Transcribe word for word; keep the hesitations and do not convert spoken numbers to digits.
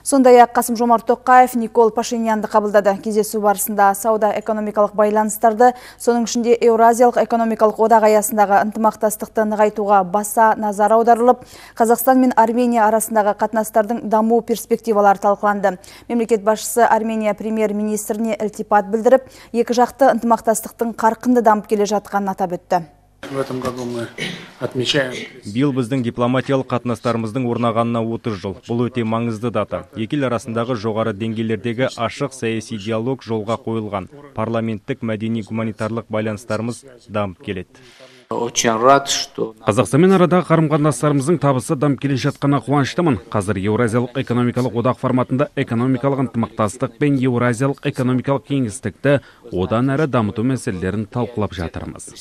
Сондай-ақ Қасым-Жомарт Тоқаев Никол Пашинянды қабылдады. Кездесу барысында сауда-экономикалық байланыстарды, соның ішінде Еуразиялық экономикалық одақ аясындағы ынтымақтастықты нығайтуға баса назар аударылып, Қазақстан мен Армения арасындағы қатынастардың даму перспективалары талқыланды. Мемлекет басшысы Армения премьер-министріне ілтипат білдіріп, екі жақты ынтымақтастықтың қарқынды дамып келе жатқанын атап өтті. В этом году мы отмечаем. Биыл біздің дипломатиялық қатынастарымыздың орнағанына отыз жыл. Бұл өте маңызды дата. Екі ел арасындағы жоғары деңгейлердегі ашық саяси диалог жолға қойылған. Парламенттік мәдени-гуманитарлық байланыстарымыз дамып келеді. Қазақстанмен арадағы қарым-қатынастарымыздың табысы дамып келе жатқанына қуаныштымын. Қазір Еуразиялық экономикалық одақ форматында экономикалық ынтымақтастық пен Еуразиялық экономикалық кеңістікті одан әрі дамыту мәселелерін талқылап жатырмыз.